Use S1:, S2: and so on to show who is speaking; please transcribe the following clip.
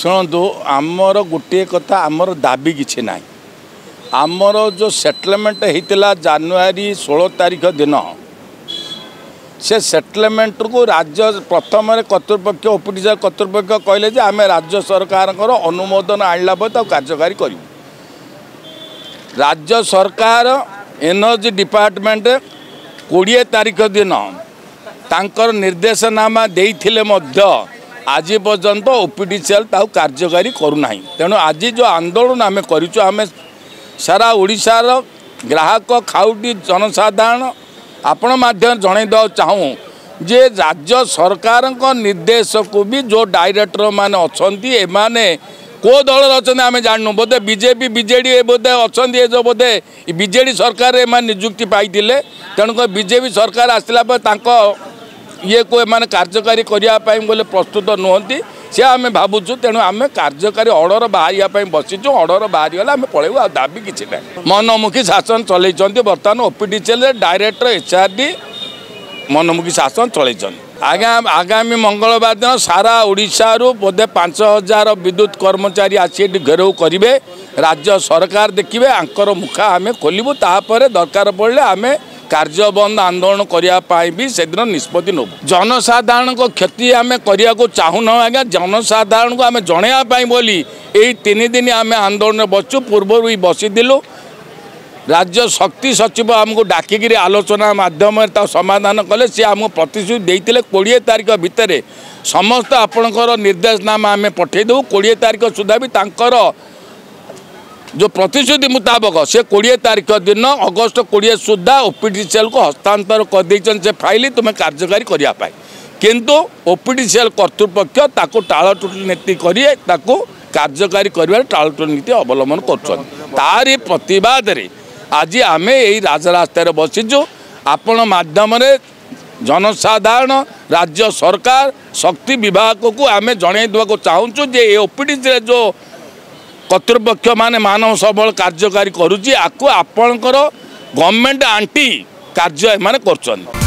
S1: ଶୁଣନ୍ତୁ, ଆମର ଗୋଟିଏ କଥା, ଆମର ଦାବି କିଛି ନାହିଁ। ଆମର ଯେଉଁ ସେଟଲମେଣ୍ଟ ହେଇଥିଲା ଜାନୁଆରୀ 16 ତାରିଖ ଦିନ, ସେ ସେଟଲମେଣ୍ଟକୁ ରାଜ୍ୟ ପ୍ରଥମରେ କର୍ତ୍ତୃପକ୍ଷ, ଓପିଟିସି କର୍ତ୍ତୃପକ୍ଷ କହିଲେ ଯେ ଆମେ ରାଜ୍ୟ ସରକାରଙ୍କର ଅନୁମୋଦନ ଆଣିଲା ପରେ ତାକୁ କାର୍ଯ୍ୟକାରୀ କରିବୁ। ରାଜ୍ୟ ସରକାର ଏନର୍ଜି ଡିପାର୍ଟମେଣ୍ଟ 20 ତାରିଖ ଦିନ ତାଙ୍କର ନିର୍ଦ୍ଦେଶନାମା ଦେଇଥିଲେ ମଧ୍ୟ ଆଜି ପର୍ଯ୍ୟନ୍ତ ଓପିଟିସିଏଲ୍ ତାକୁ କାର୍ଯ୍ୟକାରୀ କରୁନାହିଁ। ତେଣୁ ଆଜି ଯେଉଁ ଆନ୍ଦୋଳନ ଆମେ କରିଛୁ, ଆମେ ସାରା ଓଡ଼ିଶାର ଗ୍ରାହକ, ଖାଉଟି, ଜନସାଧାରଣ ଆପଣ ମାଧ୍ୟମରେ ଜଣାଇ ଦେବାକୁ ଚାହୁଁ ଯେ ରାଜ୍ୟ ସରକାରଙ୍କ ନିର୍ଦ୍ଦେଶକୁ ବି ଯେଉଁ ଡାଇରେକ୍ଟର ମାନେ ଅଛନ୍ତି, ଏମାନେ କେଉଁ ଦଳରେ ଅଛନ୍ତି ଆମେ ଜାଣିନୁ। ବୋଧେ ବିଜେପି, ବିଜେଡ଼ି ଏ ବୋଧେ ଅଛନ୍ତି। ଏ ଯେଉଁ ବୋଧେ ବିଜେଡ଼ି ସରକାରରେ ଏମାନେ ନିଯୁକ୍ତି ପାଇଥିଲେ, ତେଣୁକରି ବିଜେପି ସରକାର ଆସିଲା ପରେ ତାଙ୍କ ଇଏକୁ ଏମାନେ କାର୍ଯ୍ୟକାରୀ କରିବା ପାଇଁ ବୋଲେ ପ୍ରସ୍ତୁତ ନୁହନ୍ତି, ସେ ଆମେ ଭାବୁଛୁ। ତେଣୁ ଆମେ କାର୍ଯ୍ୟକାରୀ ଅର୍ଡ଼ର ବାହାରିବା ପାଇଁ ବସିଛୁ। ଅର୍ଡ଼ର ବାହାରିଗଲେ ଆମେ ପଳେଇବୁ, ଆଉ ଦାବି କିଛି ନାହିଁ। ମନମୁଖୀ ଶାସନ ଚଲେଇଛନ୍ତି ବର୍ତ୍ତମାନ OPTCL director, H R D ମନମୁଖୀ ଶାସନ ଚଲେଇଛନ୍ତି ଆଜ୍ଞା। ଆଗାମୀ ମଙ୍ଗଳବାର ଦିନ ସାରା ଓଡ଼ିଶାରୁ ବୋଧେ 5000 ବିଦ୍ୟୁତ କର୍ମଚାରୀ ଆସି ଏଠି ଘେରାଉ କରିବେ। ରାଜ୍ୟ ସରକାର ଦେଖିବେ, ଆଙ୍କର ମୁଖା ଆମେ ଖୋଲିବୁ। ତାପରେ ଦରକାର ପଡ଼ିଲେ ଆମେ କାର୍ଯ୍ୟବନ୍ଦ ଆନ୍ଦୋଳନ କରିବା ପାଇଁ ବି ସେଦିନ ନିଷ୍ପତ୍ତି ନେବୁ। ଜନସାଧାରଣଙ୍କ କ୍ଷତି ଆମେ କରିବାକୁ ଚାହୁଁନାହୁଁ ଆଜ୍ଞା। ଜନସାଧାରଣଙ୍କୁ ଆମେ ଜଣାଇବା ପାଇଁ ବୋଲି ଏଇ 3 ଦିନ ଆମେ ଆନ୍ଦୋଳନରେ ବସିଛୁ। ପୂର୍ବରୁ ବି ବସିଥିଲୁ। ରାଜ୍ୟ ଶକ୍ତି ସଚିବ ଆମକୁ ଡାକିକିରି ଆଲୋଚନା ମାଧ୍ୟମରେ ତାକୁ ସମାଧାନ କଲେ। ସିଏ ଆମକୁ ପ୍ରତିଶ୍ରୁତି ଦେଇଥିଲେ, 20 ତାରିଖ ଭିତରେ ସମସ୍ତ ଆପଣଙ୍କର ନିର୍ଦ୍ଦେଶନାମା ଆମେ ପଠାଇଦେବୁ। 20 ତାରିଖ ସୁଦ୍ଧା ବି ତାଙ୍କର ଯେଉଁ ପ୍ରତିଶ୍ରୁତି ମୁତାବକ ସେ 20 ତାରିଖ ଦିନ, ଅଗଷ୍ଟ 20 ସୁଦ୍ଧା ଓପିଟିସିଏଲ୍କୁ ହସ୍ତାନ୍ତର କରିଦେଇଛନ୍ତି ସେ ଫାଇଲ୍ ତୁମେ କାର୍ଯ୍ୟକାରୀ କରିବା ପାଇଁ। କିନ୍ତୁ ଓପିଟିସିଏଲ୍ କର୍ତ୍ତୃପକ୍ଷ ତାକୁ ଟାଳଟୁଳ ନୀତି କରି, ତାକୁ କାର୍ଯ୍ୟକାରୀ କରିବାରେ ଟାଳଟୁଳ ନୀତି ଅବଲମ୍ବନ କରୁଛନ୍ତି। ତାରି ପ୍ରତିବାଦରେ ଆଜି ଆମେ ଏଇ ରାଜରାସ୍ତାରେ ବସିଛୁ। ଆପଣ ମାଧ୍ୟମରେ ଜନସାଧାରଣ, ରାଜ୍ୟ ସରକାର, ଶକ୍ତି ବିଭାଗକୁ ଆମେ ଜଣାଇ ଦେବାକୁ ଚାହୁଁଛୁ ଯେ ଏ ଓପିଟିସିରେ ଯେଉଁ କର୍ତ୍ତୃପକ୍ଷ ମାନେ ମାନବ ସମ୍ବଳ କାର୍ଯ୍ୟକାରୀ କରୁଛି, ଆକୁ ଆପଣଙ୍କର ଗଭର୍ଣ୍ଣମେଣ୍ଟ ଆଣ୍ଟି କାର୍ଯ୍ୟ ଏମାନେ କରୁଛନ୍ତି।